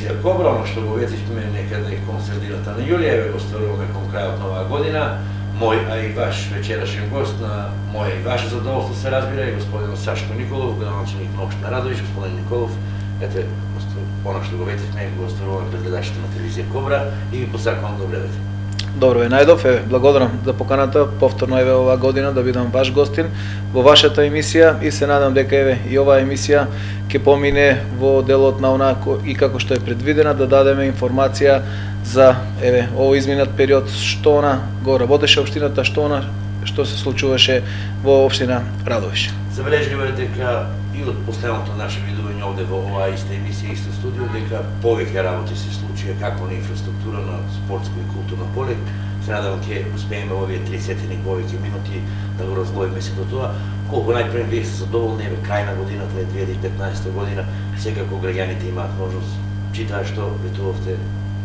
телевизија Кобра, оно што го ветивме некаде кон средината на јули, еве го стваруваме кон крајот на оваа година. Мој, а и ваш вечерашен гост, на моје и ваше задоволство се разбира, и господин Сашко Николов, градоначелник на општина Радовиш. Господин Николов, ете, оно што го ветивме, го стваруваме пред гледачите на телевизија Кобра и ви посакувам добре вечер. Добро ве најдов, благодарам за поканата, повторно еве оваа година да бидам ваш гостин во вашата емисија и се надам дека еве и оваа емисија ќе помине во делот на онако и како што е предвидена, да дадеме информација за еве овој изминат период, што она го работеше општината, што се случуваше во општина Радовиш. Забележливо е дека и од последното наше видување овде во оваа иста емисија, исто студио, дека повеќе работи се случија како на инфраструктура, на спортско и културно поле. Се надам ќе успееме во овие 30 повеќе минути да го разгледаме сето тоа. Колку најпред вие се задоволни, еве крај на годината е 2015 година, секако граѓаните имаат можност, читаа што ветувавте,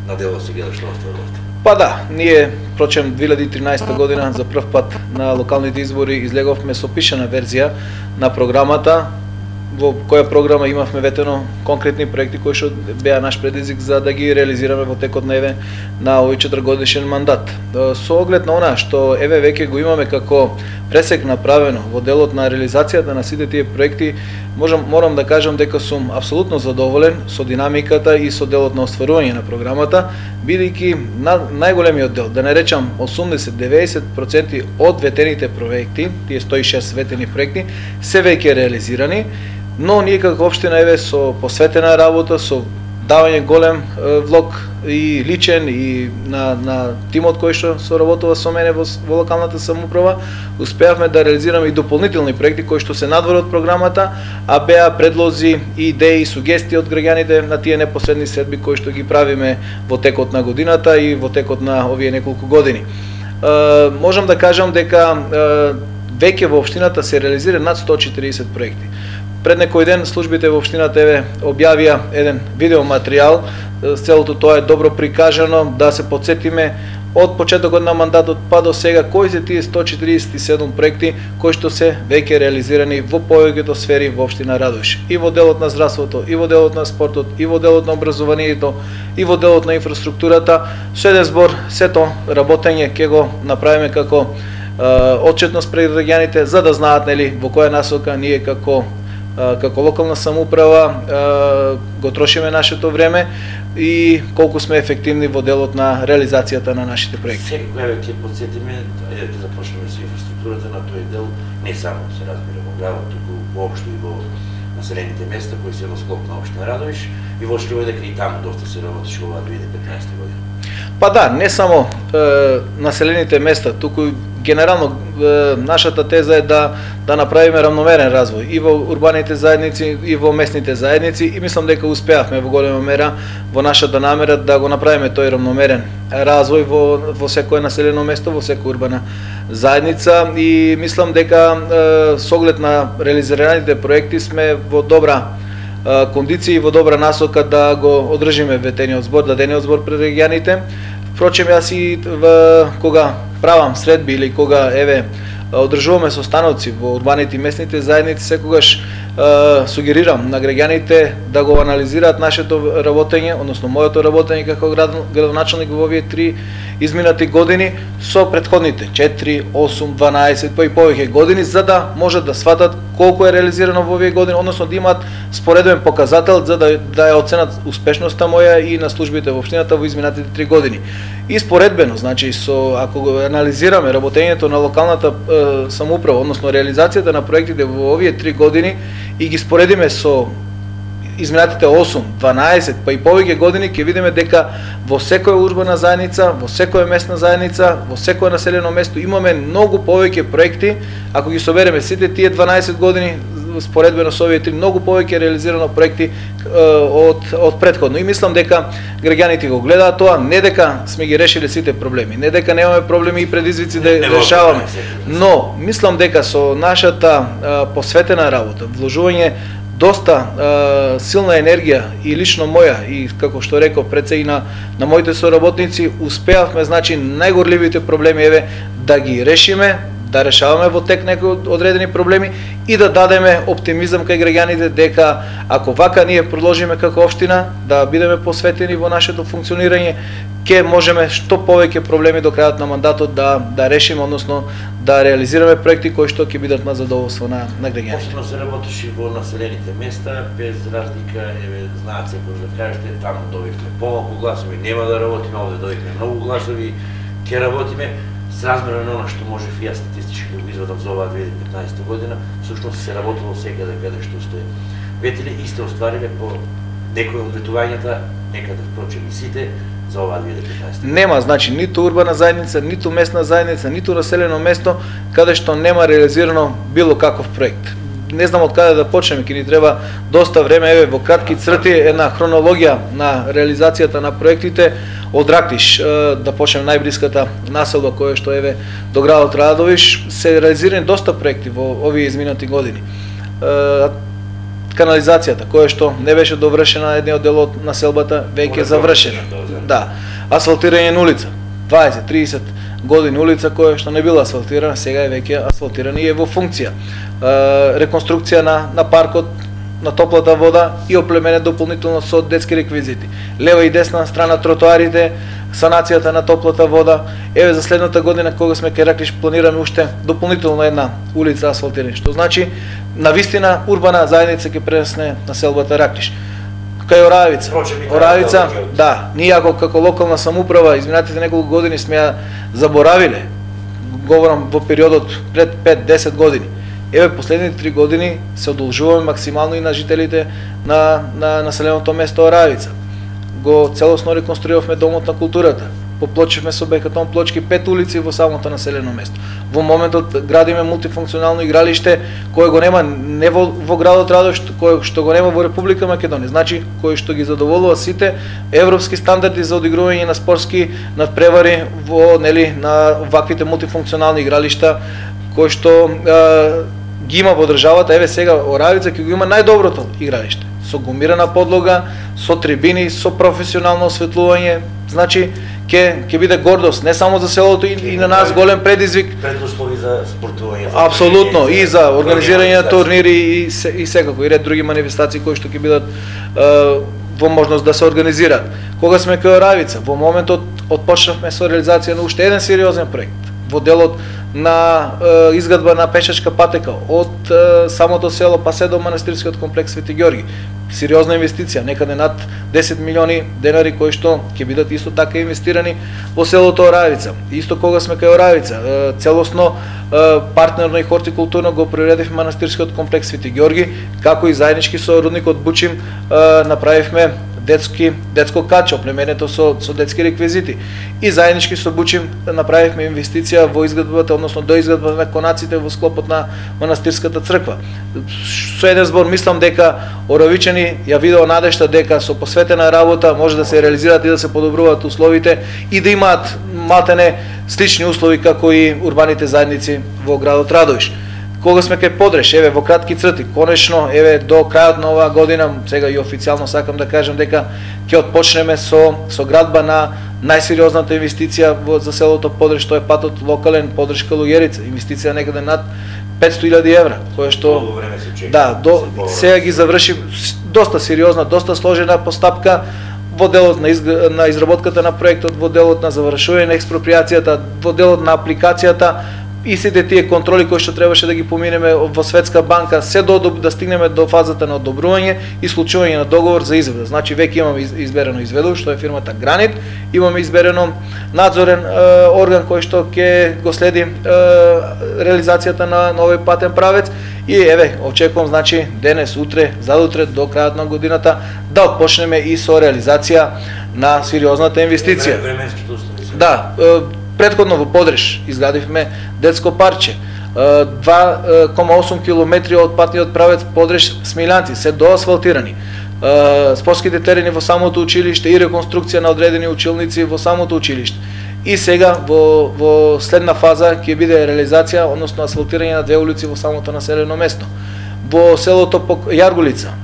на дело се гледа што остварувавте. Па да, ние прочем 2013 година за прв пат на локалните избори излеговме со пишана верзија на програмата, во која програма имавме ветено конкретни проекти кои што беа наш предизвик за да ги реализираме во текот на еве на овој 4-годишен мандат. Со оглед на она што еве веќе го имаме како пресек направено во делот на реализацијата на сите тие проекти, морам да кажам дека сум апсолутно задоволен со динамиката и со делот на остварување на програмата, бидејќи најголемиот дел, да не речам 80-90% од ветените проекти, тие 106 ветени проекти, се веќе реализирани, но ние како општина еве со посветена работа, со давање голем влог и личен и на тимот кој што соработува со мене во локалната самоуправа, успеавме да реализираме и дополнителни проекти кои што се надвор од програмата, а беа предлози, идеи, сугестии од граѓаните на тие непосредни средби кои што ги правиме во текот на годината и во текот на овие неколку години. Можам да кажам дека веќе во општината се реализира над 140 проекти. Пред некој ден службите во општината еве објавија еден видеоматеријал, целото тоа е добро прикажано, да се потсетиме од почетокот на мандатот па до сега кои се тие 147 проекти кои што се веќе реализирани во повеќето сфери во општина Радовиш. И во делот на здравството, и во делот на спортот, и во делот на образованието, и во делот на инфраструктурата. Со еден збор, сето работење ќе го направиме како отчетност пред граѓаните, за да знаат нели во која насока ние како локална самоуправа го трошиме нашето време и колку сме ефективни во делот на реализацијата на нашите проекти. Секој еве ќе потсетиме, ќе започнеме со инфраструктурата на тој дел, не само се разбира во градот, туку воопшто и во населените места кои се во склоп на општина Радовиш, и воочиво дека и таму доста се работеше оваа 2015 година. Па да, не само населените места, туку генерално нашата теза е да направиме рамномерен развој и во урбаните заедници и во местните заедници, и мислам дека успеавме во голема мера во нашата намера да го направиме тој рамномерен развој во секое населено место, во секоја урбана заедница, и мислам дека со оглед на реализираните проекти сме во добра кондиција и во добра насока да го одржиме ветениот збор, дадениот збор пред регионите. Впрочем, јас и кога правам средби или кога еве одржуваме состаноци во урбаните и местните заедници, секогаш сугерирам на граѓаните да го анализираат нашето работење, односно моето работење како градоначелник во овие 3 изминати години со претходните 4, 8, 12 па и повеќе години, за да можат да сватат колку е реализирано во овие години, односно да имаат спореден показател за да ја оценат успешноста моја и на службите во општината во изминатите 3 години. И споредбено, значи ако го анализираме работењето на локалната самоуправа, односно реализацијата на проектите во овие 3 години и ги споредиме со изминатите 8, 12 па и повеќе години, ќе видиме дека во секоја урбана заедница, во секоја местна заедница, во секое населено место имаме многу повеќе проекти. Ако ги собереме сите тие 12 години споредбено со овие 3, многу повеќе реализирано проекти од претходно. И мислам дека граѓаните го гледаат тоа, не дека сме ги решили сите проблеми, не дека немаме проблеми и предизвици да решаваме, но мислам дека со нашата посветена работа, вложување доста силна енергија и лично моја, и како што реков пред се и на моите соработници, успеавме, значи, најгорливите проблеми еве да ги решиме, да решаваме во тек некои одредени проблеми и да дадеме оптимизам кај граѓаните дека ако вака ние продолжиме како општина да бидеме посветени во нашето функционирање, ќе можеме што повеќе проблеми до крајот на мандатот да решиме, односно да реализираме проекти кои што ќе бидат на задоволство на граѓаните. Посебно се работеше во населените места, без разлика, знаат секој да кажете, таму добивме помалку гласови, нема да работиме, овде добивме многу гласови, ќе работиме. Сразмерно на она што можев и јас статистички да го извадам за оваа 2015 година, всушност се работело секаде каде што сте ветили и сте оствариле по некои од ветувањата, некаде впрочем и сите, за оваа 2015 година. Нема, значи, ниту урбана заедница, ниту местна заедница, ниту населено место каде што нема реализирано било каков проект. Не знам од каде да почнеме, ќе ни треба доста време, во кратки црти една хронологија на реализацијата на проектите. Од Рактиш, да почнем најблиската населба која што до градот Радовиш, се реализирани доста проекти во овие изминати години. Канализацијата, која што не беше довршена, едниот дел од населбата веќе завршена. Да. Асфалтирање на улица, 20-30 години улица која што не била асфалтирана, сега е веќе асфалтирана и е во функција. Реконструкција на паркот, на топлата вода и оплеменет дополнително со детски реквизити. Лева и десна страна тротоарите, санацијата на топлата вода. За следната година кога сме кај Рактиш планираме уште дополнително една улица асфалтирана, што значи навистина урбана заедница ќе пренесне населбата Рактиш. Кај Оравица, да, ние како локална самоуправа изминатите неколку години сме ја заборавиле, говорам во периодот пред 5-10 години. Последните 3 години се одолжуваме максимално и на жителите на населеното место Оравица. Го целосно реконструиравме домот на културата. Поплочивме со бекатон плочки 5 улици во самото населено место. Во моментот градиме мултифункционално игралиште кое го нема не во градот Радовиш, кое што го нема во Република Македонија. Значи кој што ги задоволува сите европски стандарди за одигрување на спортски надпревари во на ваквите мултифункционални игралишта кои што ги има во државата. Сега Оравица ќе го има најдоброто игралиште, со гумирана подлога, со трибини, со професионално осветлување. Значи ќе биде гордост не само за селото и на нас голем предизвик. Предуслови за спортување. Апсолутно, и за организирање на турнири и секако и ред други манифестации кои што ќе бидат во можност да се организираат. Кога сме кај Оравица, во моментот отпочнавме со реализација на уште еден сериозен проект во делот на изградба на пешачка патека од самото село па се до манастирскиот комплекс Свети Ѓорги. Сериозна инвестиција, некаде над 10 милиони денари кои што ќе бидат исто така инвестирани во селото Оравица. Исто кога сме кај Оравица, целосно партнерно и хортикултурно го приредивме манастирскиот комплекс Свети Ѓорги, како и заеднички со родникот Бучим направивме детско каче, оплеменето со детски реквизити. И заеднички со Бучим направивме инвестиција во изградбата, односно до изградбата на конаците во склопот на манастирската црква. Со еден збор мислам дека оравичани ја видео надежта дека со посветена работа може да се реализираат и да се подобруваат условите и да имаат малтене слични услови како и урбаните заедници во градот Радовиш. Кога сме кај Подреш, во кратки црти, конечно, до крајот на оваа година, сега и официјално сакам да кажам дека ќе отпочнеме со градба на најсериозната инвестиција за селото Подреш, тоа е патот локален Подреш-Калуѓерица, инвестиција некаде над 500.000 евра, која што сега ги заврши доста сериозна, доста сложена постапка во делот на изработката на проектот, во делот на завршување на експроприацијата, во делот на апликацијата и сите тие контроли кои што требаше да ги поминеме во Светска банка, се да стигнеме до фазата на одобрување и случување на договор за изведа. Значи веќе имаме изберено изведувач, што е фирмата Гранит, имаме изберено надзорен орган кој што ќе го следи реализацијата на овој патен правец и очекувам значи денес, утре, задутре до крајот на годината да отпочнеме и со реализација на сериозната инвестиција. Да, предходно во Подреш изградивме детско парче. 2,8 километри од патниот правец Подреш Смилјанци се доасфалтирани. Спортските терени во самото училиште и реконструкција на одредени училници во самото училиште. И сега во следна фаза ќе биде реализација, односно асфалтирање на 2 улици во самото населено место. Во селото Јаргулица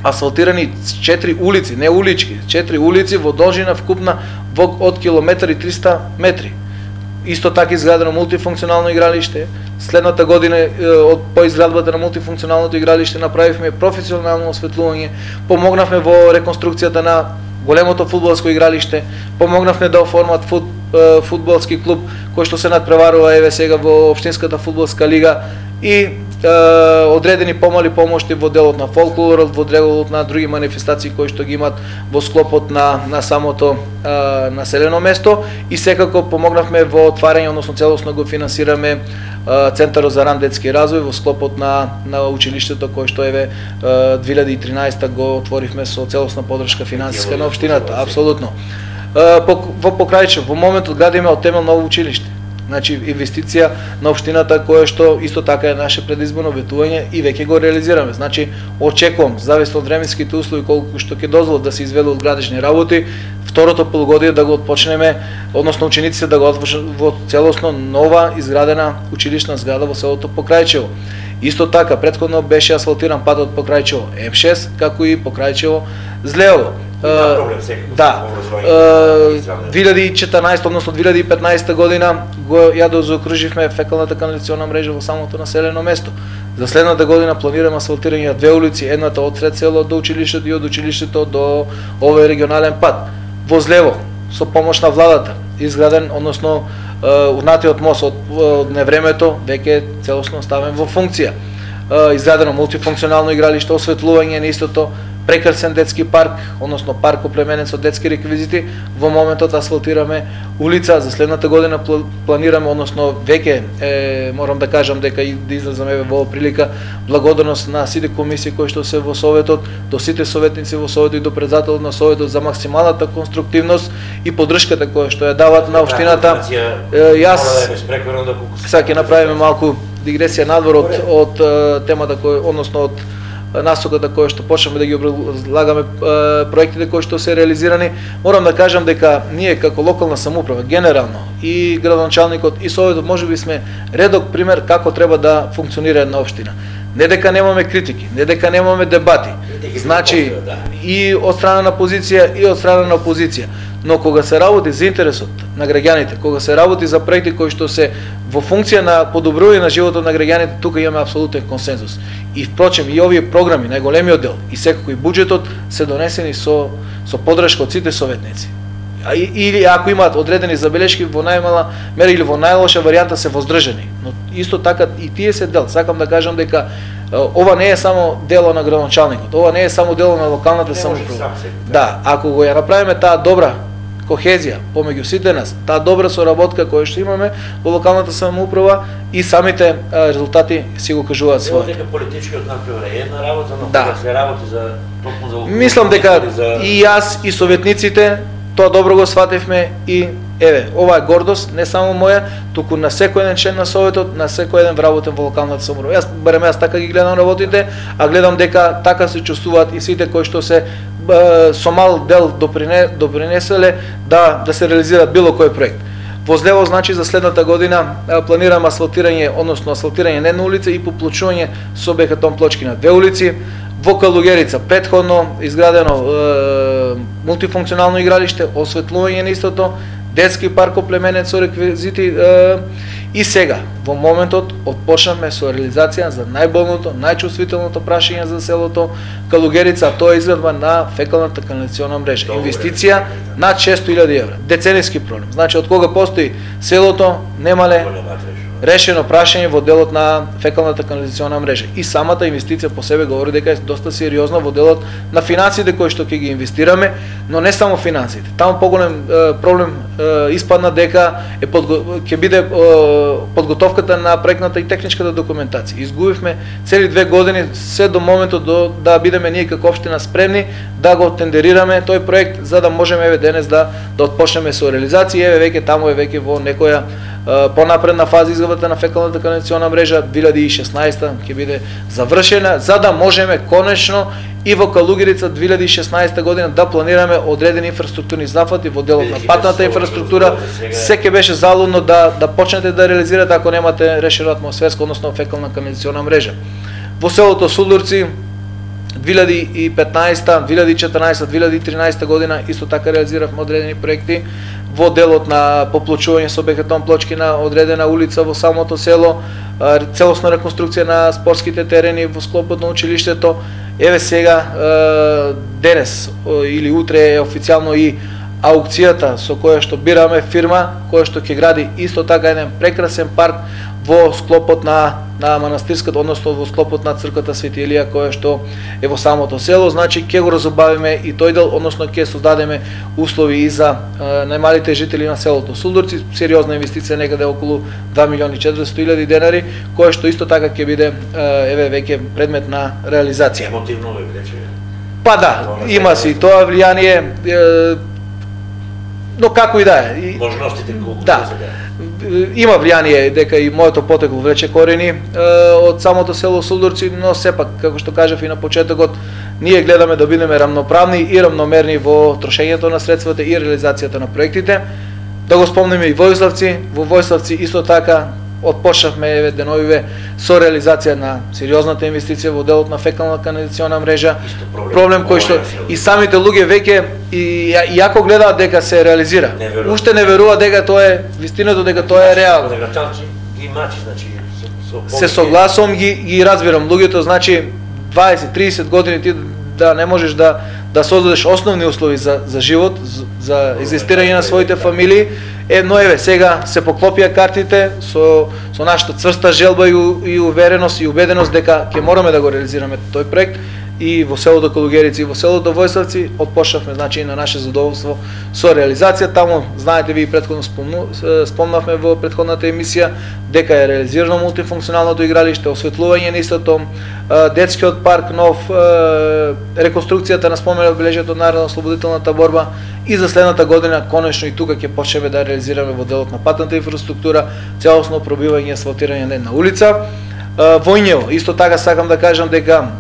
асфалтирани 4 улици, не улички, 4 улици во должина вкупна од километар и 300 метри. Исто така изградено мултифункционално игралиште. Следната година по изградбата на мултифункционалното игралиште направивме професионално осветлување, помогнавме во реконструкцијата на големото фудбалско игралиште, помогнавме да оформат фудбалски клуб кој што се надпреварува еве сега во општинската фудбалска лига и одредени помали помошти во делот на фолклорот, во делот на други манифестации кои што ги имат во склопот на самото населено место и секако помогнавме во отварање, односно целосно го финансираме Центарот за ран детски развој во склопот на училиштето кој што еве 2013 го отворивме со целосна поддршка финансиска на општината, апсолутно. Во Покрајчево во моментот градиме од темел ново училиште. Значи инвестиција на општината која што исто така е наше предизборно ветување и веќе го реализираме. Значи очекувам зависно од временските услови колку што ќе дозволат да се изведат градежни работи, второто полугодие да го отпочнеме, односно учениците да го отвршат во целосно нова изградена училишна зграда во селото Покрајчево. Исто така претходно беше асфалтиран патот Покрајчево М6 како и Покрајчево Злеово. Да, 2014, односно 2015 година ја заокруживме фекалната канализациона мрежа во самото населено место. За следната година планираме асфалтирање на две улици, едната од сред село до училиштето и од училиштето до овој регионален пат. Во Злево, со помош на владата, изграден, односно урнатиот мост од невремето веќе целосно ставен во функција. Изградено мултифункционално игралиште, осветлување на истото, прекрасен детски парк, односно парк оплеменен со детски реквизити. Во моментот асфалтираме улица, за следната година планираме, односно веќе морам да кажам дека и да излезам еве во прилика благодарност на сите комисии кои што се во советот, до сите советници во советот и до председателот на советот за максималната конструктивност и поддршката која што ја дават на општината. Јас сега ќе направиме малку дигресија надвор од темата кој, односно од насоката која што почнеме да ги образлагаме проектите кои што се реализирани. Морам да кажам дека ние како локална самоуправа генерално и градоначалникот и советот можеби сме редок пример како треба да функционира една општина. Не дека немаме критики, не дека немаме дебати. Значи и од страна на позиција и од страна на опозиција. Но кога се работи за интересот на граѓаните, кога се работи за проекти кои што се во функција на подобрување на животот на граѓаните, тука имаме апсолутен консензус. И впрочем и овие програми, најголемиот дел и секако и буџетот се донесени со поддршка од сите советници. Или ако имаат одредени забелешки во најмала мера или во најлоша варијанта се воздржани. Но исто така и тие се дел. Сакам да кажам дека ова не е само дело на градоначалникот, ова не е само дело на локалната самоуправа. Да, ако го ја направиме таа добра кохезија помеѓу сите нас, таа добра соработка која што имаме во локалната самоуправа и самите резултати си го кажуваат своје. Дека политичкиот например е една работа, но кога се работи за токму за мислам дека и јас и советниците тоа добро го свативме и еве, ова е гордост не само моја, туку на секој еден член на советот, на секој еден вработен во локалната самоуправа. Јас така ги гледам работите, а гледам дека така се чувствуваат и сите кои што се со мал дел допринеселе да се реализира било кој проект. Во Злево, значи, за следната година планираме асфалтирање, односно асфалтирање на една улица и поплочување со бетон плочки на две улици. Во Калугерица претходно изградено мултифункционално игралиште, осветлување на истото, детски парк оплеменет со реквизити и сега во моментот отпочнавме со реализација за најболното, најчувствителното прашање за селото Калугерица, тоа е изградба на фекалната канализациона мрежа. Инвестиција над 600.000 евра. Децениски проблем. Значи од кога постои селото немале решено прашање во делот на фекалната канализациона мрежа. И самата инвестиција по себе говори дека е доста сериозна во делот на финансите кои што ќе ги инвестираме, но не само финансите. Таму поголем проблем испадна дека ќе биде подготовката на проектната и техничката документација. Изгубивме цели 2 години се до моментот да бидеме ние како општина спремни да го тендерираме тој проект за да можеме еве денес да отпочнеме со реализација. Еве веќе таму е веќе во некоја понапредна фаза изградбата на фекалната канализациона мрежа 2016 ќе биде завршена за да можеме конечно и во Калугерица 2016 година да планираме одредени инфраструктурни зафати во делот на патната инфраструктура. Се ќе беше залудно да почнете да реализирате ако немате решена атмосферска, односно фекална канализациона мрежа. Во селото Судурци 2015, 2014, 2013 година исто така реализиравме одредени проекти. во делот на поплочување со бетон плочки на одредена улица во самото село, целосна реконструкција на спортските терени во склопот на училиштето. Еве сега денес или утре е официјално и аукцијата со која што бираме фирма која што ќе гради исто така еден прекрасен парк во склопот на манастирската, односно во склопот на црквата Свети Илија која што е во самото село. Значи ќе го разубавиме и тој дел, односно ќе создадеме услови и за најмалите жители на селото Сулдурци. Сериозна инвестиција, некаде околу 2.400.000 денари, која што исто така ќе биде еве веќе предмет на реализација. Емотивно ме рече. Па да, има си тоа влијание, но како и да е. Можностите колку да. Има влијание дека и моето потекло влече корени од самото село Сулдурци, но сепак, како што кажав и на почетокот, ние гледаме да бидеме рамноправни и рамномерни во трошењето на средствата и реализацијата на проектите. Да го спомнеме и Војславци, во Војславци исто така отпочнавме еве деновиве со реализација на сериозната инвестиција во делот на фекална канализациона мрежа. Проблем кој што и самите луѓе веќе и јако гледаат дека се реализира. Уште не веруваат дека тоа е вистината, дека тоа е реално. Ги мачи, значи се согласувам, ги разбирам луѓето, значи 20-30 години ти да не можеш да создадеш основни услови за живот, за екзистирање на своите фамилии. Но еве сега се поклопија картите со нашата цврста желба и увереност и убеденост дека ќе мораме да го реализираме тој проект и во селото Калугерици и во селото Војславци отпочнавме значи на наше задоволство со реализација. Таму знаете ви претходно спомнавме во претходната емисија дека е реализирано мултифункционалното игралиште, осветлување на истото, детскиот парк нов, реконструкцијата на спомен одбележјето од Народно-ослободителната борба. И за следната година конечно и тука ќе почнеме да реализираме во делот на патната инфраструктура, целосно пробивање и асфалтирање на една улица. Во Ињево исто така сакам да кажам дека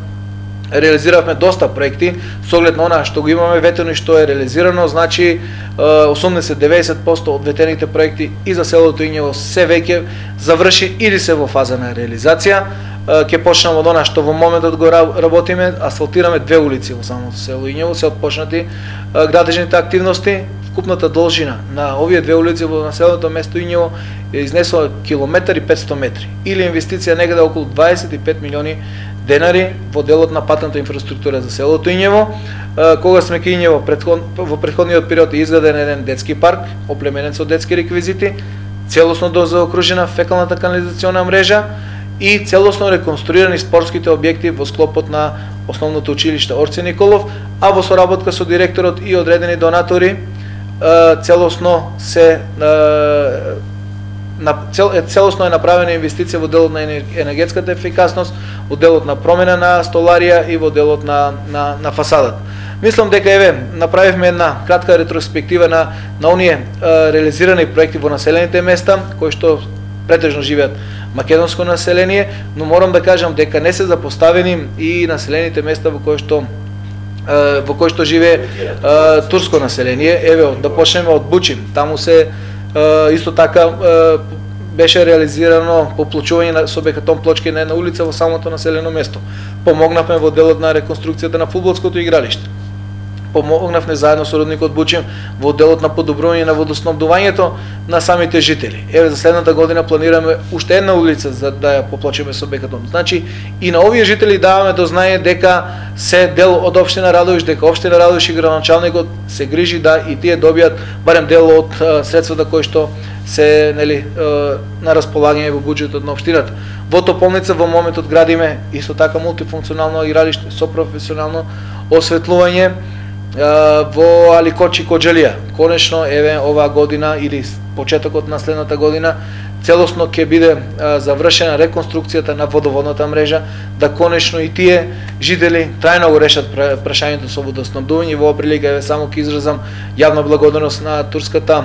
реализиравме доста проекти со оглед на она што го имаме ветено и што е реализирано. Значи 80-90% од ветените проекти и за селото Ињево се веќе заврши или се во фаза на реализација. Ќе почнеме од она што во моментот го работиме, асфалтираме 2 улици во самото село Ињево, се отпочнати градежните активности. Вкупната должина на овие 2 улици во населеното место Ињево е изнесла километар и 500 метри, или инвестиција некаде околу 25 милиони денари во делот на патната инфраструктура за селото Ињево. Кога сме кај Ињево во претходниот период е изграден еден детски парк, оплеменет со детски реквизити, целосно заокружена фекалната канализациона мрежа и целосно реконструирани спортските објекти во склопот на основното училиште Орце Николов, а во соработка со директорот и одредени донатори целосно е направена инвестиција во делот на енергетската ефикасност, во делот на промена на столарија и во делот на фасадата. Мислам дека еве направивме една кратка ретроспектива на оние реализирани проекти во населените места кои што претежно живеат македонско население, но морам да кажам дека не се запоставени и населените места во кои што живее турско население. Еве да почнеме од Бучин. Таму се исто така беше реализирано поплочување со бетон плочки на една улица во самото населено место. Помогнавме во делот на реконструкцијата на фудбалското игралиште. Помогнавме заедно со родникот Бучин во делот на подобрување на водоснабдувањето на самите жители. Еве за следната година планираме уште една улица за да ја поплочиме со бетон. Значи и на овие жители даваме до знаење дека се дел од општина Радовиш, дека општина Радовиш и градоначалникот се грижи да и тие добијат барем дел од средствата кои што се на располагање во буџетот на општината. Во Тополница во моментот градиме исто така мултифункционално игралиште со професионално осветлување. Во Аликочи Коџелија, конечно еве оваа година или почетокот на следната година целосно ќе биде завршена реконструкцијата на водоводната мрежа, да конечно и тие жители трајно го решат прашањето со водоснабдување. Во прилика еве само ќе изразам јавна благодарност на турската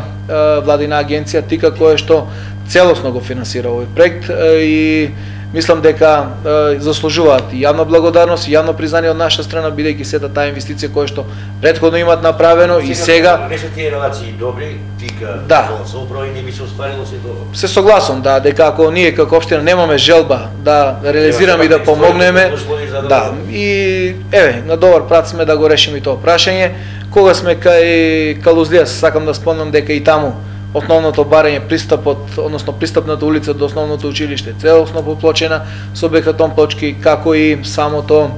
владина агенција ТИКА која што целосно го финансира овој проект и мислам дека заслужуваат и јавна благодарност и јавно признание од наша страна, бидејќи сета таа инвестиција која што претходно имаат направено и сега не се тие релации добри, ТИКА со управа и не би се остварило се тоа. Се согласувам дека ако ние како општина немаме желба да реализираме и да помогнеме, и еве на добар прат сме да го решиме тоа прашање. Кога сме кај Калуздија, сакам да спомнам дека и таму основното барање, пристапот, односно пристапната улица до основното училиште, целосно поплочена со бетон плочки, како и самото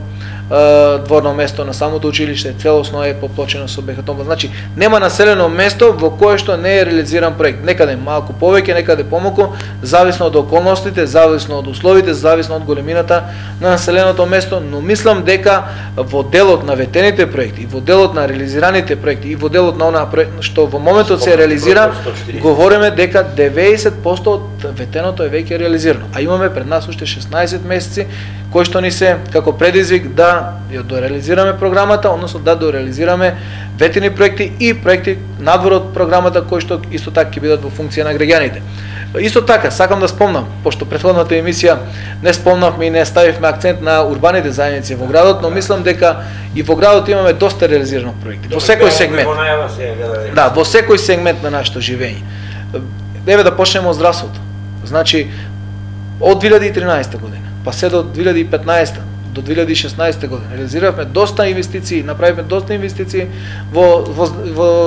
дворно место на самото училиште целосно е поплочено со бетон. Значи нема населено место во кое што не е реализиран проект. Некаде малку повеќе, некаде помалку, зависно од околностите, зависно од условите, зависно од големината на населеното место, но мислам дека во делот на ветените проекти, во делот на реализираните проекти и во делот на онаа што во моментот се реализира, говориме дека 90% од ветеното е веќе реализирано. А имаме пред нас уште 16 месеци кои што ни се како предизвик да ја дореализираме програмата, односно да дореализираме ветени проекти и проекти надвор од програмата кои што исто така ќе бидат во функција на граѓаните. Исто така, сакам да спомнам, пошто претходната емисија не спомнавме и не ставивме акцент на урбаните заедници во градот, но мислам дека и во градот имаме доста реализирано проекти. Во секој сегмент. Да, во секој сегмент на нашето живење. Еве да почнеме од здравството. Значи, од 2013 година па се до 2015 до 2016 година реализиравме доста инвестиции, направивме доста инвестиции во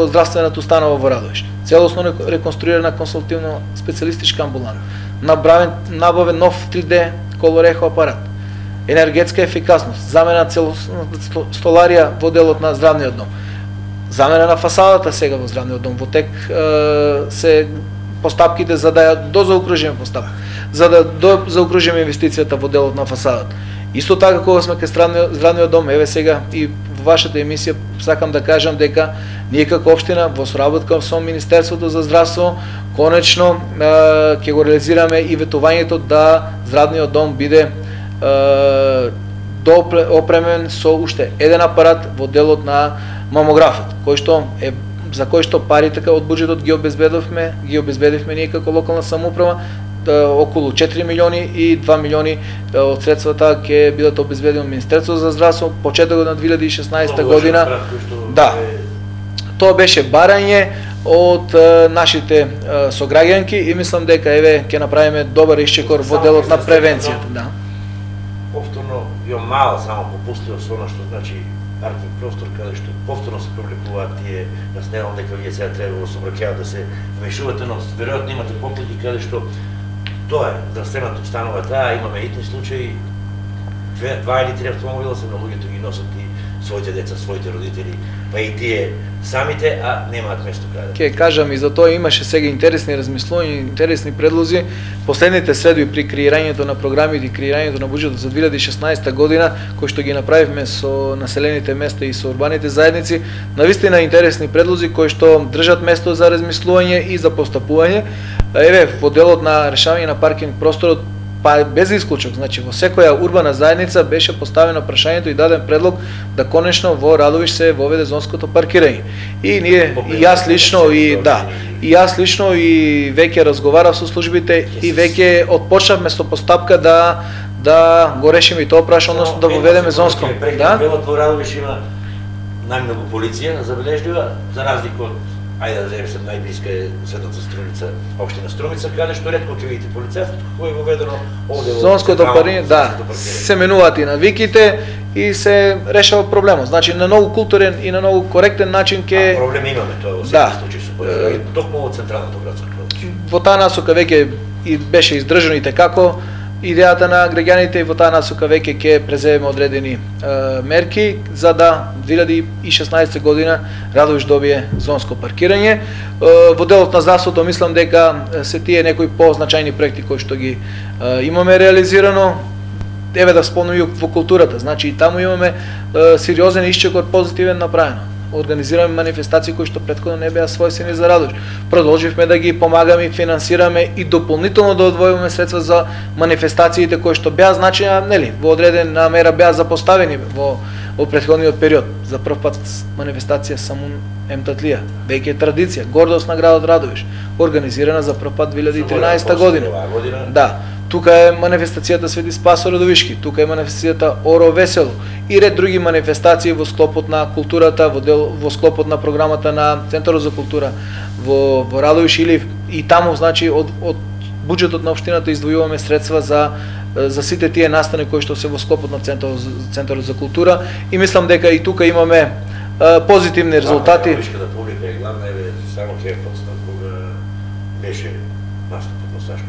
здравствената установа во Радовиш. Целосно реконструирана консултативно специјалистичка амбуланта, набавен нов 3D колорехо апарат, енергетска ефикасност, замена целосно столарија во делот на здравниот дом, замена на фасадата сега во здравниот дом, во тек се постапките за да ја дозаокружиме постапка, за да заокружиме инвестицијата во делот на фасадата. Исто така кога сме кај здравниот дом, еве сега и во вашата емисија сакам да кажам дека ние како општина во соработка со Министерството за здравство конечно ќе го реализираме и ветувањето да здравниот дом биде опремен со уште еден апарат во делот на мамографот, кој што е за кој што парите од буџетот ги обезбедивме ние како локална самоуправа, околу 4 милиони и 2 милиони од средствата ќе бидат обезбедени од Министерството за здравство почетокот на 2016 година. Да. Тоа беше барање од нашите сограѓанки и мислам дека еве ќе направиме добар исчекор во делот на превенцијата, да. Повторно ја мала само попустила со она што значи паркинг простор каде што повторно се привлекуваат тие, насневам дека вие сега треба во сообраќајот да се вмешувате, но веројатно имате поклики каде што тоа е, здравствената установа таа, имаме итни случаи, 2 или 3 автомобила се на луѓето ги носат и своите деца, своите родители, па и тие самите, а немаат место каде. Ке кажам и за тоа имаше сега интересни размислувања, интересни предлози. Последните средби при креирањето на програмите и креирањето на буџетот за 2016 година, кои што ги направивме со населените места и со урбаните заедници, навистина интересни предлози кои што држат место за размислување и за постапување. Еве, во делот на решавање на паркинг просторот, па без исклучок, значи во секоја урбана заедница беше поставено прашањето и даден предлог да конечно во Радовиш се воведе зонското паркирање. И ние, и јас лично и веќе разговарав со службите и веќе отпочнавме со постапка да го решиме и тоа прашање, односно да воведеме зонско. Да? Во Радовиш има најмногу полиција забележлива, за разлика од ајде да земе се најблиска е Светата Струмица, општина Струмица, каде што ретко ќе видите полицајството кој е воведено овде во зонското паркирање, да, се менуваат и навиките и се решава проблемот. Значи на многу културен и на многу коректен начин ќе проблем имаме тоа во секој случај со полицајството, токму во централното градско подруčje. Во таа насока веќе и беше издржано и како идејата на граѓаните и во таа насока веќе ќе преземеме одредени мерки за да 2016 година Радовиш добие зонско паркирање. Во делот на здравството мислам дека се тие некои позначајни проекти кои што ги имаме реализирано. Еве да спомнам и во културата, значи и таму имаме сериозен исчекор позитивен направено. Организираме манифестации кои што претходно не беа својствени за Радовиш. Продолживме да ги помагаме и финансираме и дополнително да одвојуваме средства за манифестациите кои што беа значаја, нели, во одредена мера беа запоставени во претходниот период. За прв пат манифестација Самун Емтатлија, веќе е традиција, гордост на градот Радовиш, организирана за прв пат 2013 година. Да. Тука е манифестацијата Свети Спас Радовишки, тука е манифестацијата Оро Весело и ред други манифестации во склопот на културата, во склопот на програмата на Центарот за култура во Радовиш или и таму, значи од буџетот на општината издвојуваме средства за сите тие настани кои што се во склопот на Центарот за култура и мислам дека и тука имаме позитивни резултати. Вишката публика е главна, само ќе подстан кога беше настапот на Сашко.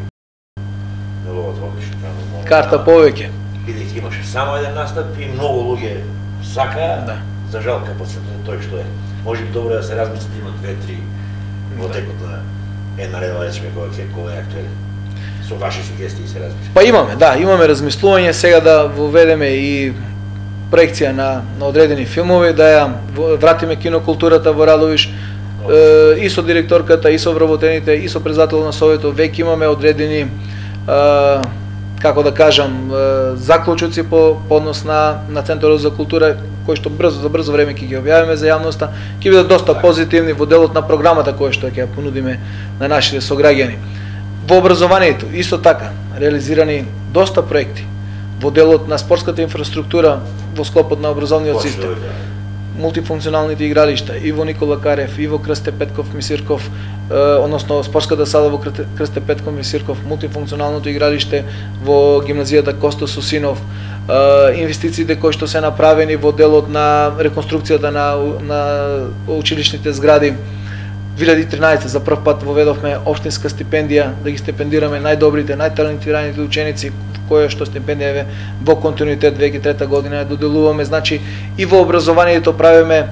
Неговото одлично таму. Карта повеќе. Бидејќи имаше само еден настап и многу луѓе сака, за жал капацитетот тој што е. Може би добро да се размисли да има 2-3 во текот на една редова речеме кога е актуелен. Со ваши сугестии се размисли. Па имаме размислување сега да воведеме и проекција на одредени филмови, да ја вратиме кинокултурата во Радовиш, и со директорката, и со вработените, и со председател на советот, веќе имаме одредени, како да кажам, заклучоци по однос на Центарот за култура, кои што за брзо време ќе ги објавиме за јавноста, ќе бидат доста позитивни во делот на програмата која што ќе ја понудиме на нашите сограѓани. Во образованието исто така реализирани доста проекти во делот на спортската инфраструктура во склопот на образовниот систем. Мултифункционалните игралишта и во Никола Карев, и во Крсте Петков Мисирков, односно спортската сала во Крсте Петков Мисирков, мултифункционалното игралиште во гимназијата Косто Сусинов, инвестициите кои што се направени во делот на реконструкцијата на училишните згради. 2013 за прв пат воведовме општинска стипендија да ги стипендираме најдобрите, најталентираните ученици, која што стипендија е во континуитет веќе трета година ја доделуваме. Значи и во образованието правиме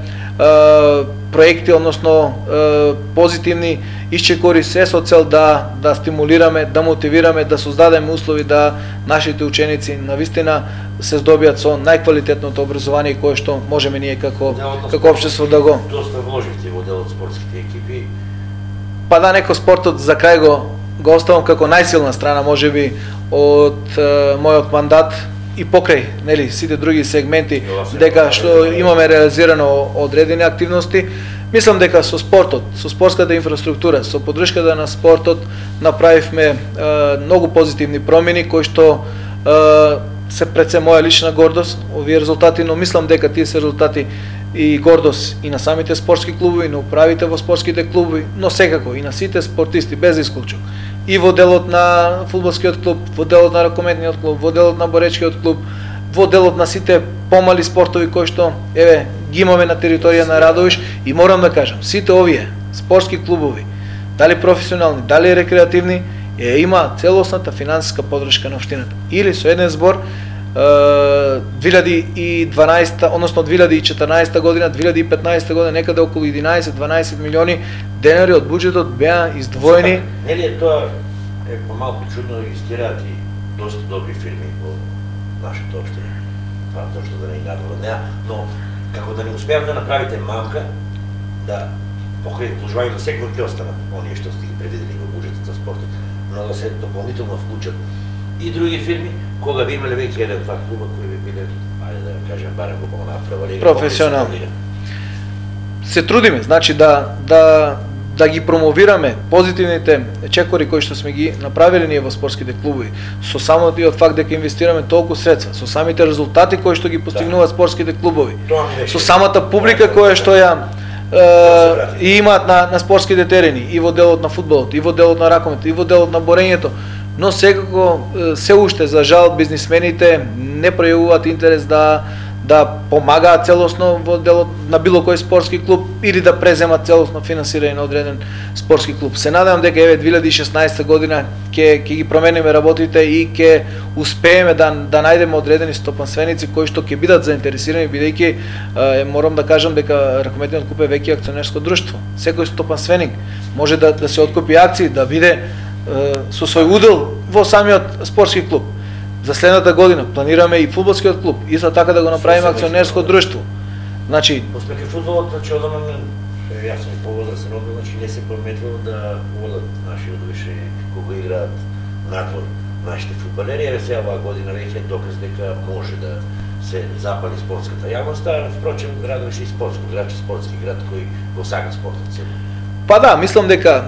проекти, односно позитивни исчекори се со цел да стимулираме, да мотивираме, да создадеме услови да нашите ученици навистина се здобијат со најквалитетното образование кое што можеме ние како општество да го. Доста вложивте во делот спортските екипи. Па да, некој спортот за крај го оставам како најсилна страна можеби од мојот мандат и покрај, нели, сите други сегменти дека што имаме реализирано одредени активности. Мислам дека со спортот, со спортската инфраструктура, со поддршката на спортот направивме многу позитивни промени кои што се пред се моја лична гордост овие резултати, но мислам дека тие се резултати и гордост и на самите спортски клубови, на управите во спортските клубови, но секако и на сите спортисти без исклучок. И во делот на фудбалскиот клуб, во делот на ракометниот клуб, во делот на боречкиот клуб, во делот на сите помали спортови кои што ги имаме на територија на Радовиш. И морам да кажам, сите овие спортски клубови, дали професионални, дали рекреативни, има целосната финансиска поддршка на општината. Или со еден збор 2012, односно 2014 година, 2015 година, некаде околу 11-12 милиони денари од буџетот беа издвоени. Нели тоа е помалку чудно, регистрираат и доста добри фирми во нашата општина. Тоа што да не надвор од неа, но како да не успеам да направите мамка, да покрај вложувањето секој ќе останат оние што сте ги предвидели во буџетот за спортот, но да се дополнително вклучат и други фирми, кога би имале веќе еден-два клуба кои би биле, ајде да кажем, барем во онаа прва лига. Професионални. Се трудиме, значи да ги промовираме позитивните чекори кои што сме ги направиле ние во спортските клубови, со самото и од факт дека инвестираме толку средства, со самите резултати кои што ги постигнуваат спортските клубови, со самата публика која што ја и имаат на спортските терени, и во делот на фудбалот, и во делот на ракометот, и во делот на борењето, но секако се уште за жал бизнисмените не пројавуваат интерес да помагаат целосно во делот на било кој спортски клуб или да преземат целосно финансирање на одреден спортски клуб. Се надевам дека 2016 година ќе ги промениме работите и ќе успееме да најдеме одредени стопанственици кои што ќе бидат заинтересирани, бидејќи морам да кажам дека ракометниот клуб е веќе акционерско друштво. Секој стопанственик може да се откупи акции, да биде со свој удел во самиот спортски клуб. За следната година планираме и фудбалскиот клуб, исто така да го направиме акционерско друштво. Значи, Поспеќе фудбалот, значи одамна јас сум повозрасен одамна, значи не се пометило да одат наши одвишени кога играат надвор нашите фудбалери, еве сега оваа година веќе е доказ дека може да се запали спортската јавност, а впрочем Радовиш е спортско град, спортски град кој го сака спортот. Па да, мислам дека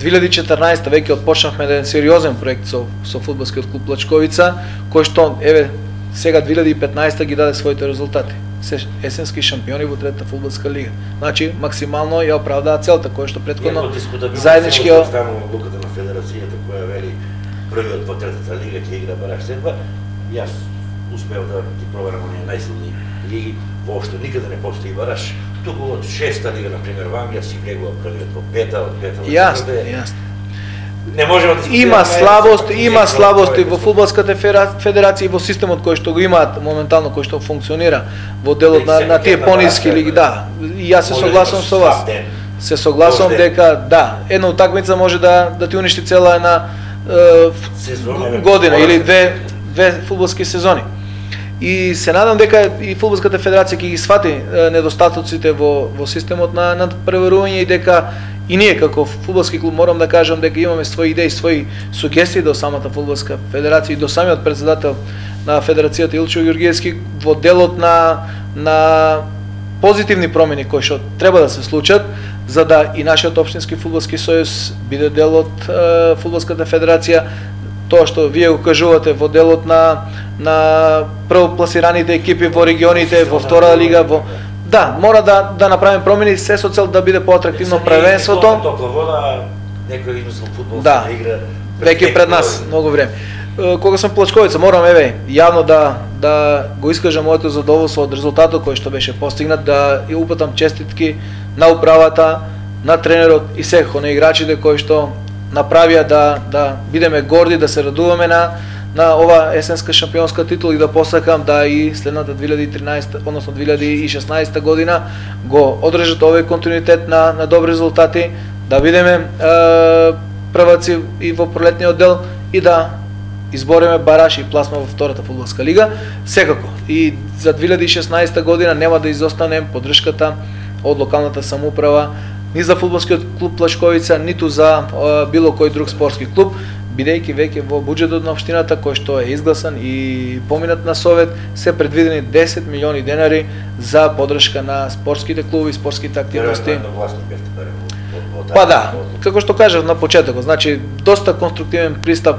2014 веќе отпочнавме еден сериозен проект со фудбалскиот клуб Плачковица, кој што еве сега 2015 ги даде своите резултати. Се есенски шампиони во третата фудбалска лига. Значи максимално ја оправдаа целта која што претходно заеднички одлуката на федерацијата која вели првиот во третата лига ќе игра бараш седба. Јас успеав да ги проверам оние најсилни лиги, воопшто никаде не постои бараш. Туку од 6-та лига, например, во Англија си влегува првиот во 5-та, од 5-та во 4-та. Јасно. Не можеме да има слабости во фудбалската федерација и во системот кој што го имаат моментално, кој што функционира во делот на тие пониски лиги, да. И јас се согласувам со вас. Се согласувам дека да, една утакмица може да ти уништи цела една година или две фудбалски сезони. И се надам дека и фудбалската федерација ќе ги свати недостатоците во системот на надпреварување и дека и ние како фудбалски клуб морам да кажам дека имаме своји идеи, своји сугестии до самата фудбалска федерација и до самиот претседател на федерацијата Илчо Ѓорѓиевски во делот на позитивни промени кои што треба да се случат за да и нашиот општински фудбалски сојуз биде дел од фудбалската федерација. Тоа што вие го кажувате во делот на првопласираните екипи во регионите, во втора лига, да, мора да направиме промени се со цел да биде поатрактивно првенството. Топла вода, некој измислил фудбалска игра. Веќе пред нас многу време. Кога сум Плачковица, морам јавно да го искажам моето задоволство од резултатот кој што беше постигнат, да ја упатам честитки на управата, на тренерот и секако на играчите кои што направија да бидеме горди, да се радуваме на ова есенска шампионска титула и да посакам да и следната 2013, односно 2016 година го одржат овој континуитет на добри резултати, да бидеме прваци и во пролетниот дел и да избориме бараш и пласма во втората фудбалска лига. Секако и за 2016 година нема да изостанем поддршката од локалната самоуправа ни за фудбалскиот клуб Плачковица, ниту за било кој друг спортски клуб, бидејќи веќе во буџетот на општината кој што е изгласан и поминат на совет се предвидени 10 милиони денари за поддршка на спортските клубови, спортските активности. Па да, како што кажав на почетокот, значи доста конструктивен пристап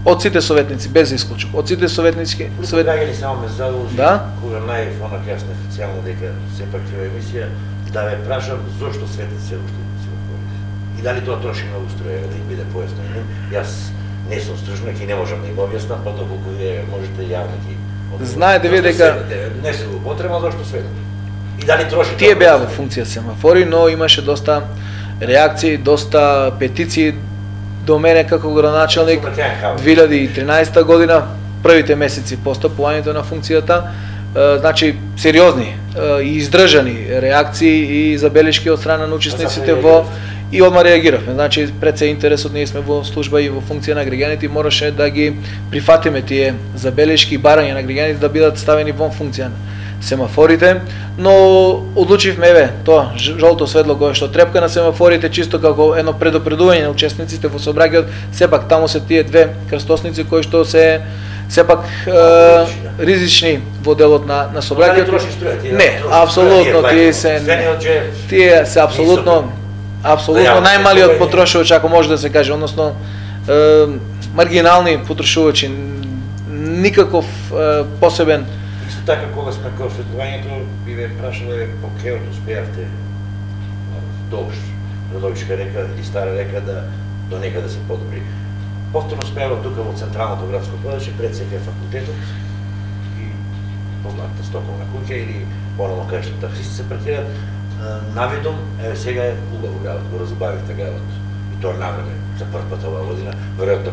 од сите советници без исклучок. Од сите советници Гаѓани само ме задолжи, кога најав онак јас неофицијално дека сепак е емисија, да ме прашам зошто светници се уште се отворили. И дали тоа троши многу струја да им биде појаснено. Јас не сум стружник и не можам да им објаснам, па доколку вие можете јавно ги. Знаете вие дека не се го потребно зошто светат. И дали троши тие беа во функција семафори, но имаше доста реакции, доста петиции до мене како градоначелник 2013 година, првите месеци постапувањето на функцијата, значи сериозни и издржани реакции и забелешки од страна на учесниците во и одма реагиравме. Значи пред се интересот, ние сме во служба и во функција на граѓаните и мораше да ги прифатиме тие забелешки и барања на граѓаните да бидат ставени во функција семафорите, но одлучивме тоа жолто светло кое што трепка на семафорите чисто како едно предупредување на учесниците во сообраќајот. Сепак таму се тие две крстосници кои што се сепак ризични во делот на сообраќајот. Не, апсолутно тие се апсолутно најмалиот потрошувач, ако може да се каже, односно маргинални потрошувачи, никаков посебен. Така кога сме кај осветлувањето, би ве прашале по кеот успеавте долж Радовишка река или Стара река да до некаде се подобри. Повторно успеава тука во централното градско подрачје пред СК факултетот и познатата стоковна куќа или поново кај што таксисти се паркираат. Навидом, сега е убаво градот, го разубавивте градот и тоа навреме за прв пат оваа година, веројатно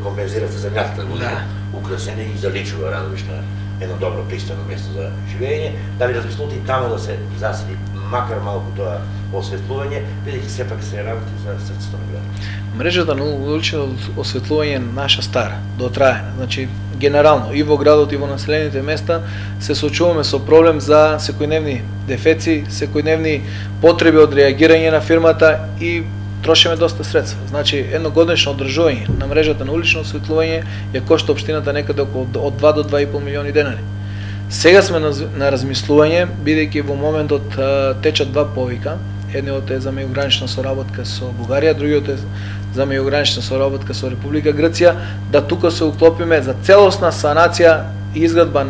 компензирате земјата година, украсене и заличува Радовишна едно добро пристано место за живење, дали размислувате и таму да се засили макар малку тоа осветлување, бидејќи сепак се работи за срцето на градот. Мрежата на улично осветлување е наша стара, дотраена. Значи генерално и во градот и во населените места се соочуваме со проблем за секојдневни дефеци, секојдневни потреби од реагирање на фирмата и трошиме доста средства. Значи едногодишно одржување на мрежата на улично осветлување ја кошта општината некаде околу од 2 до 2,5 милиони денари. Сега сме на размислување, бидејќи во моментот течат два повика. Едниот е за меѓугранична соработка со Бугарија, другиот е за меѓугранична соработка со Република Грција, да тука се уклопиме за целосна санација и изградба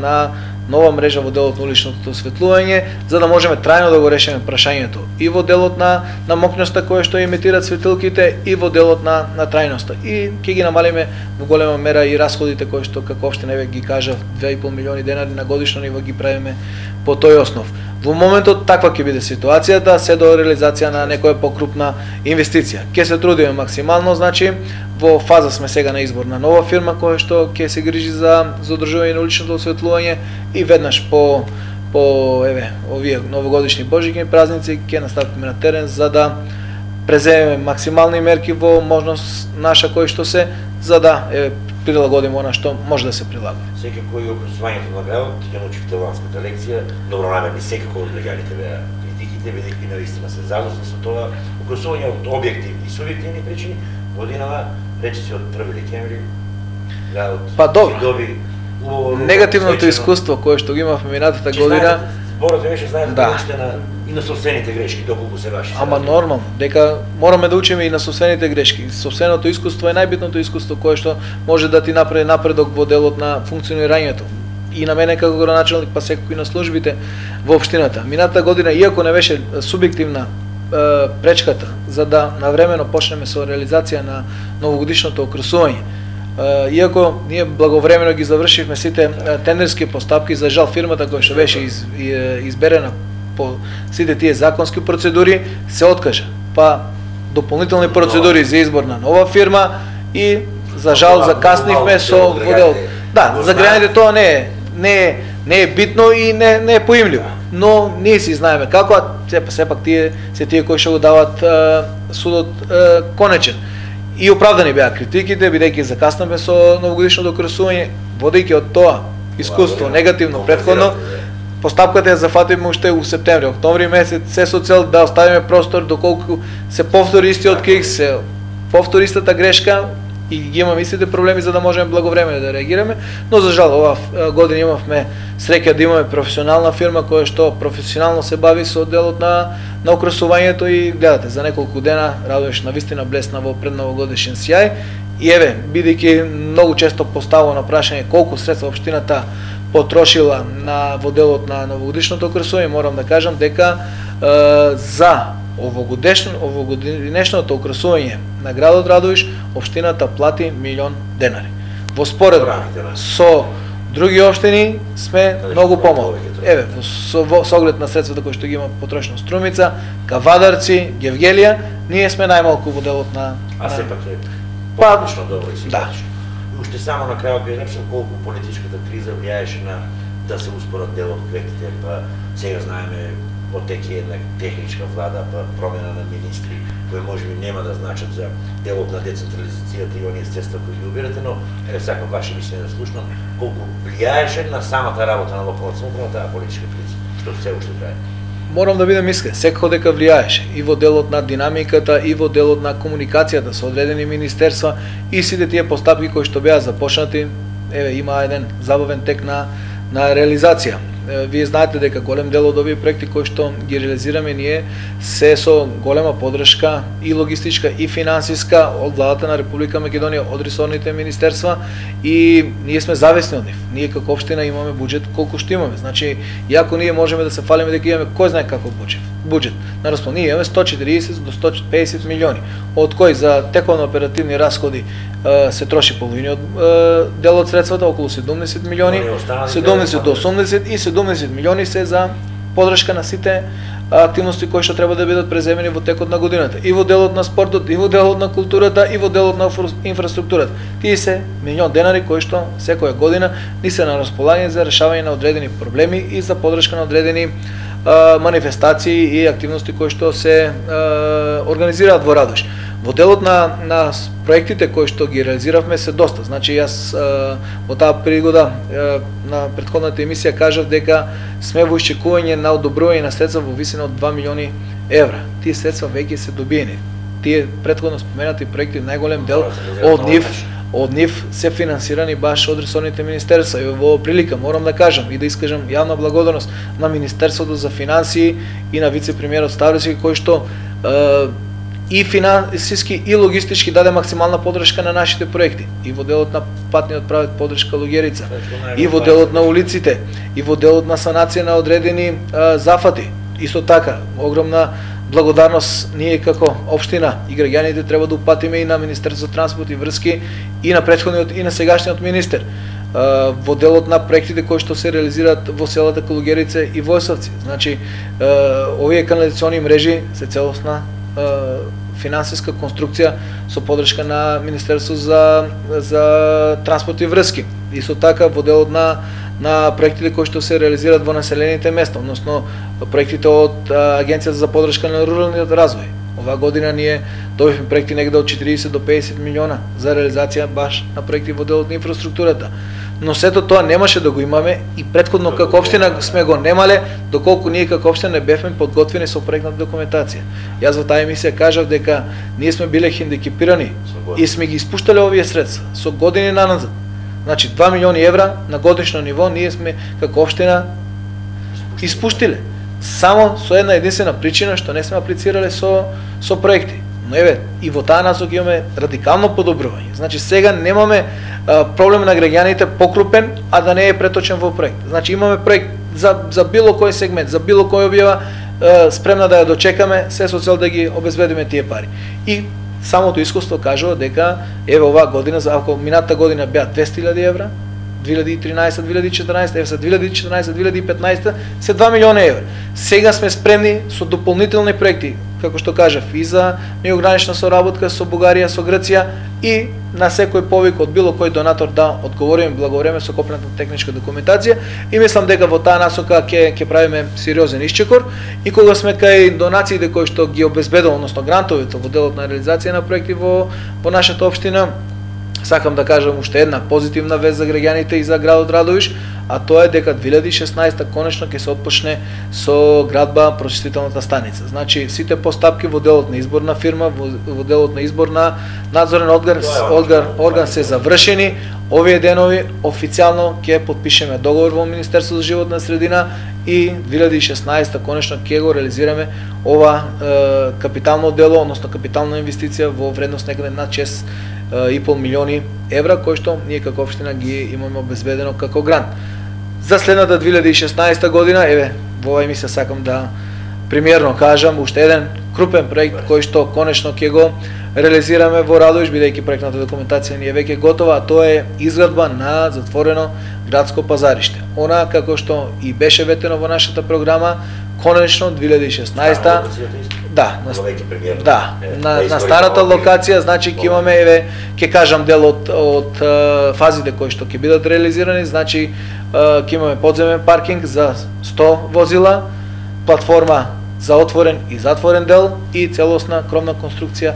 нова мрежа во делот на уличното осветлување, за да можеме трајно да го решиме прашањето и во делот на мокноста која што емитираат светилките и во делот на трајноста. И ќе ги намалиме во голема мера и расходите кои што како општина еве ги кажав 2,5 милиони денари на годишно ниво ги правиме по тој основ. Во моментот таква ќе биде ситуацијата, се до реализација на некоја покрупна инвестиција. Ќе се трудиме максимално, значи во фаза сме сега на избор на нова фирма која што ќе се грижи за одржување на уличното осветлување и веднаш по еве овие новогодишни божични празници ќе настапиме на терен за да преземеме максимални мерки во можност наша кој што се за да прилагодиме она што може да се прилага. Секако и образувањето на градот, ќе научивте ланската лекција, добронамерни секако од легалите беа критиките, бидејќи навистина се задоцна со тоа, образување од објективни и субјективни причини, годинава, речиси од 1 декември, градот ќе доби убаво негативното искуство кое што ги имавме минатата година. Зборот беше знаете да и на собствените грешки доколку се ваши. Ама нормално, дека мораме да учиме и на собствените грешки. Собственото искуство е најбитното искуство кое што може да ти направи напредок во делот на функционирањето. И на мене како градоначалник, па секако и на службите во општината. Минатата година, иако не беше субјективна пречката за да навремено почнеме со реализација на новогодишното окрасување, иако ние благовремено ги завршивме сите тендерски постапки, за жал фирмата која што беше изберена по сите тие законски процедури се откажа. Па дополнителни процедури за избор на нова фирма и за жал закаснивме со водел. Да, за граѓаните тоа не е битно и не е поимливо, но ние си знаеме како, а сепак тие се тие кои што го дават судот конечен. И оправдани беа критиките, бидејќи закаснаме со новогодишното окрасување, водејќи од тоа искуство негативно претходно, постапката ја зафатиме уште у септември, октомври месец, се со цел да оставиме простор доколку се повтори истиот кик, се повтори истата грешка и ги имаме истите проблеми за да можеме благовремено да реагираме, но за жал оваа година имавме среќа да имаме професионална фирма која што професионално се бави со делот на окрасувањето и гледате за неколку дена Радоиш навистина блесна во предновогодишен сјај и еве бидејќи многу често поставано прашање колку средства општината потрошила во делот на новогодишното окрасување, морам да кажам дека за овогодишното окрасување на градот Радоиш општината плати 1 милион денари. Во споредба со други општини сме многу помалку. Еве, со оглед на средствата кои што ги има потрошено Струмица, Кавадарци, Гевгелија, ние сме најмалку во делот на... А сепак е одлично добро и симпатично. И уште само на крајот би речел колку политичката криза влијаеше на да се успорат делот проектите, па сега знаеме отеки една техничка влада, па промена на министри, кои можеби нема да значат за делот на децентрализацијата и оние средства кои ги убирате, но еве сакам ваше мислење да слушнам колку влијаеше на самата работа на локалната самоуправа таа политичка криза, што се уште трае. Морам да бидам искрен, секако дека влијаеше и во делот на динамиката и во делот на комуникацијата со одредени министерства и сите тие постапки кои што беа започнати, еве има еден забавен тек на реализација. Вие знаете дека голем дел од овие проекти кои што ги реализираме ние се со голема поддршка и логистичка и финансиска од владата на Република Македонија, од ресорните министерства и ние сме зависни од нив. Ние како општина имаме буџет колку што имаме. Значи, иако ние можеме да се фалиме дека имаме кој знае каков буџет. На распон ние имаме 140 до 150 милиони, од кои за тековно оперативни расходи се троши половиниот дел од средствата, околу 70 милиони, 70 до 80 и 70 милиони се за поддршка на сите активности кои што треба да бидат преземени во текот на годината. И во делот на спортот, и во делот на културата, и во делот на инфраструктурата. Тие се милион денари кои што секоја година ни се на располагање за решавање на одредени проблеми и за поддршка на одредени манифестации и активности кои што се организираат во Радоиш. Во делот на проектите кои што ги реализиравме се доста. Значи јас во таа пригода на претходната емисија кажав дека сме во исчекување на одобрување на средства во висина од 2 милиони евра. Тие средства веќе се добиени. Тие претходно споменати проекти, најголем дел од нив се финансирани баш од ресорните министерства. И во прилика морам да кажам и да искажам јавна благодарност на Министерството за финансии и на вице-премиерот Ставровски кој што и финансиски и логистички даде максимална поддршка на нашите проекти. И во делот на патниот правец поддршка Луѓерица, и во делот на улиците, и во делот на санација на одредени зафати. Исто така, огромна благодарност ние како општина и граѓаните треба да упатиме и на Министерството за транспорт и врски и на претходниот и на сегашниот министер во делот на проектите кои што се реализираат во селата Колуѓерица и Војсовци. Значи, овие канализациони мрежи се целосна финансиска конструкција со поддршка на Министерството за транспорт и врски. Исто така во делот на проектите кои што се реализираат во населените места, односно проектите од Агенцијата за поддршка на руралниот развој. Оваа година ние добивме проекти негде од 40 до 50 милиона за реализација баш на проекти во делот на инфраструктурата. Но сето тоа немаше да го имаме и претходно како општина сме го немале, доколку ние како општина не бевме подготвени со проектната документација. Јас во таа емисија кажав дека ние сме биле хендикепирани и сме ги испуштале овие средства со години наназад. Значи 2 милиони евра на годишно ниво ние сме како општина испуштиле. Само со една единствена причина што не сме аплицирале со проекти. Но еве, и во таа насока имаме радикално подобрување. Значи сега немаме проблем на граѓаните покрупен, а да не е преточен во проект. Значи имаме проект за било кој сегмент, за било кој објава, спремна да ја дочекаме, се со цел да ги обезбедиме тие пари. И самото искуство кажува дека еве оваа година, ако минатата година беа 200.000 евра, 2013-2014, еве се 2014-2015 се 2 милиона евра. Сега сме спремни со дополнителни проекти, како што кажав, и за меѓугранична соработка со Бугарија, со Грција и на секој повик од било кој донатор да одговориме благовреме со копната техничка документација и мислам дека во таа насока ќе правиме сериозен исчекор и кога сме кај донациите кои што ги обезбедува, односно грантовите во делот на реализација на проекти во нашата општина, сакам да кажам уште една позитивна вест за граѓаните и за градот Радовиш, а тоа е дека 2016 конечно ќе се отпочне со градба прочистителната станица. Значи сите постапки во делот на избор на фирма, во делот на избор на надзорен орган се завршени. Овие денови официјално ќе потпишеме договор во Министерството за животна средина и 2016 конечно ќе го реализираме ова капитално дело, односно капитална инвестиција во вредност некаде над 6,5 милиони евра, кои што ние како општина ги имаме обезбедено како грант. За следната 2016 година, еве, во оваа емисија сакам да премиерно кажам уште еден крупен проект кој што конечно ќе го реализираме во Радовиш, бидејќи проектната документација ни е веќе готова, а тоа е изградба на затворено градско пазариште. Она како што и беше ветено во нашата програма, конечно 2016 на старата локација, значи ќе имаме, еве, ќе кажам дел од фазите кои што ќе бидат реализирани, значи ќе имаме подземен паркинг за 100 возила, платформа за отворен и затворен дел и целосна кровна конструкција,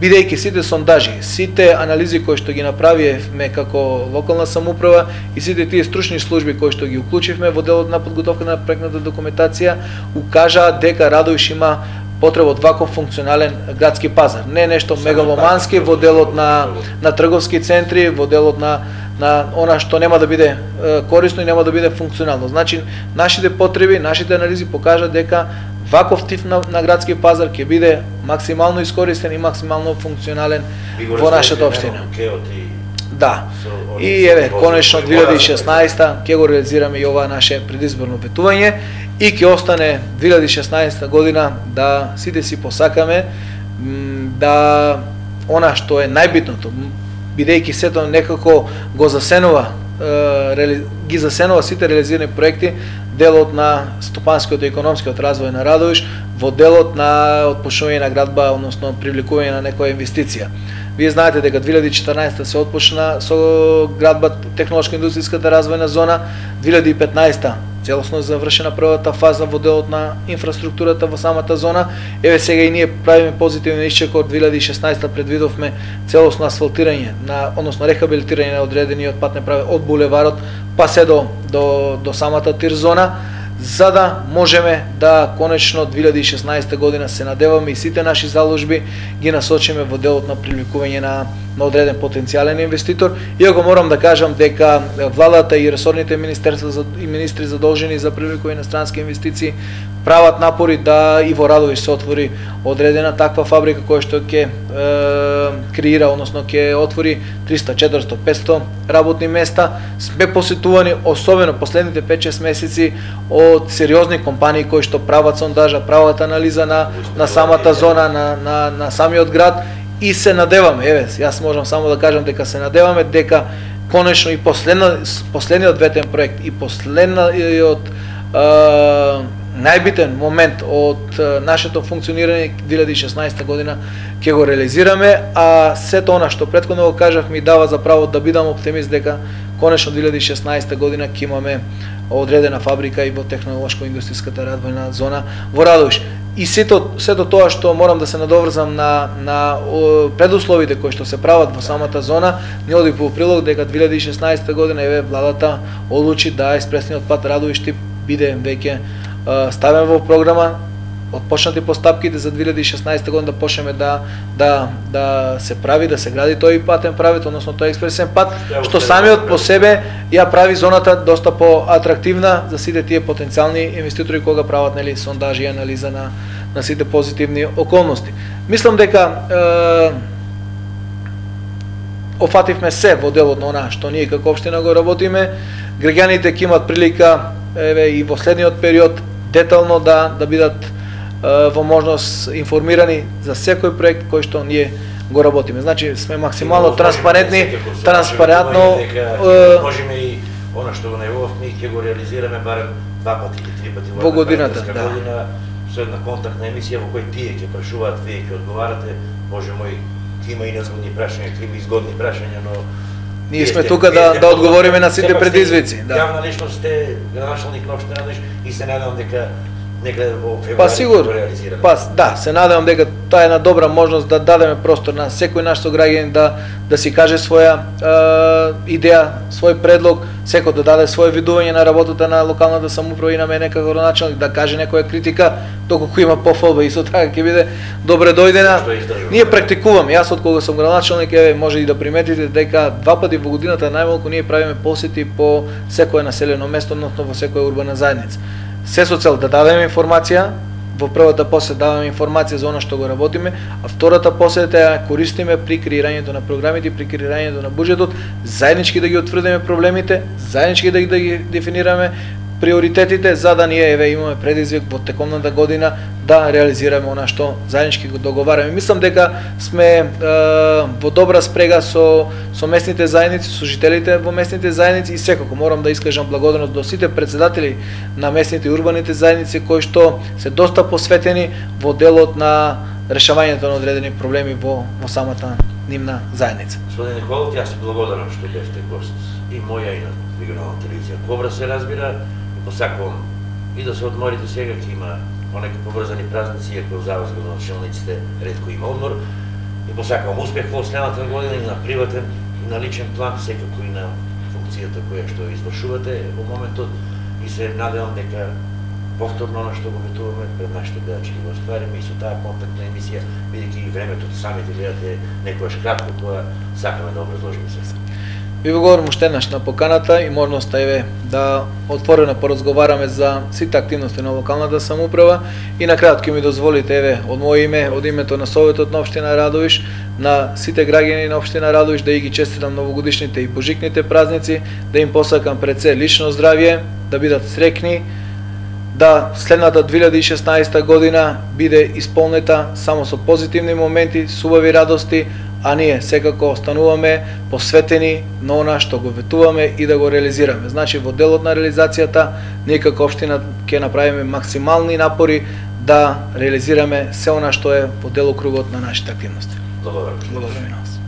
бидејќи сите сондажи, сите анализи кои што ги направивме како локална самоуправа и сите тие стручни служби кои што ги уклучивме во делот на подготовка на проектната документација, укажаа дека Радовиш има потреба од ваков функционален градски пазар. Не нешто мегаломански во делот на трговски центри, во делот на она што нема да биде корисно и нема да биде функционално. Значи, нашите потреби, нашите анализи покажат дека ваков тип на градски пазар ќе биде максимално искористен и максимално функционален во нашата општина. Да. И еве, конечно 2016 ќе го реализираме и ова наше предизборно ветување и ќе остане 2016 година да сите си посакаме да она што е најбитното, бидејќи сето некако го засенува, ги засенува сите реализирани проекти, делот на стопанскиот и економскиот развој на Радовиш, во делот на отпочнување на градба, односно привлекување на некоја инвестиција. Вие знаете дека 2014 се отпочна со градба технолошко-индустријската развојна зона, 2015 целосно завршена првата фаза во делот на инфраструктурата во самата зона. Еве сега и ние правиме позитивен исчекор, 2016 предвидовме целосно асфалтирање, односно рехабилитирање на одредениот патен правец од булеварот па се до самата тир зона, за да можеме да конечно 2016 година се надеваме и сите наши заложби ги насочиме во делот на привлекување на одреден потенцијален инвеститор. Иако морам да кажам дека владата и ресорните министерства и министри задолжени за привлекување на странски инвестиции прават напори да и во Радовиш се отвори одредена таква фабрика која што ќе креира, односно ќе отвори 300, 400, 500 работни места. Сме посетувани, особено последните 5-6 месеци, од сериозни компании кои што прават сондажа, прават анализа на самата зона, на самиот град, и се надеваме, еве, јас можам само да кажам дека се надеваме дека конечно и последниот ветен проект и последниот најбитен момент од нашето функционирање 2016 година ќе го реализираме, а сето она што претходно го кажав ми дава за право да бидам оптимист дека конечно 2016 година ќе имаме одредена фабрика и во технолошко-индустријската развојна зона во Радовиш. И сето тоа што морам да се надоврзам на предусловите кои што се прават во самата зона, не оди по прилог дека 2016 година еве владата одлучи да експресниот пат Радовиш биде веќе ставен во програма, отпочнати постапките за 2016 година да почнеме да се прави, да се гради тој патен правец, односно тој експресен пат, што самиот по себе ја прави зоната доста поатрактивна за сите тие потенцијални инвеститори кога прават нели сондажи и анализа на сите позитивни околности. Мислам дека офативме се во делот на она што ние како општина го работиме. Граѓаните ќе имат прилика еве и во следниот период детално да бидат во можност информирани за секој проект кој што ние го работиме. Значи сме максимално транспарентни, транспарентно можеме и она што го најавувавме ќе го реализираме барем 2 пати или 3 пати во годината, година, со една контактна емисија во која тие ќе прашуваат, вие ќе одговарате, може мој ќе има и незгодни прашања, ќе има изгодни прашања, но ние сме тука да одговориме на сите предизвици. Јавна личност сте градоначалник на општина Радовиш и се надевам дека некаде во февруари па сигурно, го реализираме. Па да, се надевам дека тоа е една добра можност да дадеме простор на секој наш сограѓанин да си каже своја идеја, свој предлог, секој да даде свое видување на работата на локалната самоуправа и на мене како градоначалник, да каже некоја критика, доколку има пофалба, исто така ќе биде добре дојдена. Ние практикуваме, јас од кога сум градоначалник, еве може и да приметите дека 2 пати во годината најмалку ние правиме посети по секое населено место, односно во секоја урбана заедница. Се со цел да дадеме информација, во првата посета даваме информација за она што го работиме, а втората посета ја користиме при креирањето на програмите, при креирањето на буџетот, заеднички да ги утврдиме проблемите, заеднички да ги дефинираме приоритетите, за да ние еве имаме предизвик во текомната година да реализираме она што заеднички го договараме. Мислам дека сме во добра спрега со местните заедници, со жителите во местните заедници и секако морам да искажам благодарност до сите председатели на местните и урбаните заедници кои што се доста посветени во делот на решавањето на одредени проблеми во самата нивна заедница. Господин Николов, јас се благодарам што бевте гост и моја и на регионална телевизија Кобра, се разбира, и посакувам и да се одморите сега, ќе има понеки поврзани празници, иако за вас градоначалниците ретко има одмор, и посакувам успех во следната година и на приватен и на личен план, секако и на функцијата која што извршувате во моментот, и се надевам дека повторно оно што го ветуваме пред нашите гледачи го оствариме и со таа контактна емисија, бидејќи и времето самите гледате некојаш кратко која сакаме да образложиме се. Ви благодарам уште еднаш на поканата и можноста еве да отворено поразговараме за сите активности на локалната самоуправа и на крајот ќе ми дозволите еве од моје име, од името на Советот на општина Радовиш, на сите граѓани на општина Радовиш да ги честитам новогодишните и божикните празници, да им посакам пред се лично здравје, да бидат среќни, да следната 2016 година биде исполнета само со позитивни моменти, со убави радости, а ние секако остануваме посветени на она што го ветуваме и да го реализираме. Значи во делот на реализацијата ние како општина ќе направиме максимални напори да реализираме се она што е во делокругот на нашите активности. Благодарам. Благодарам и на вас.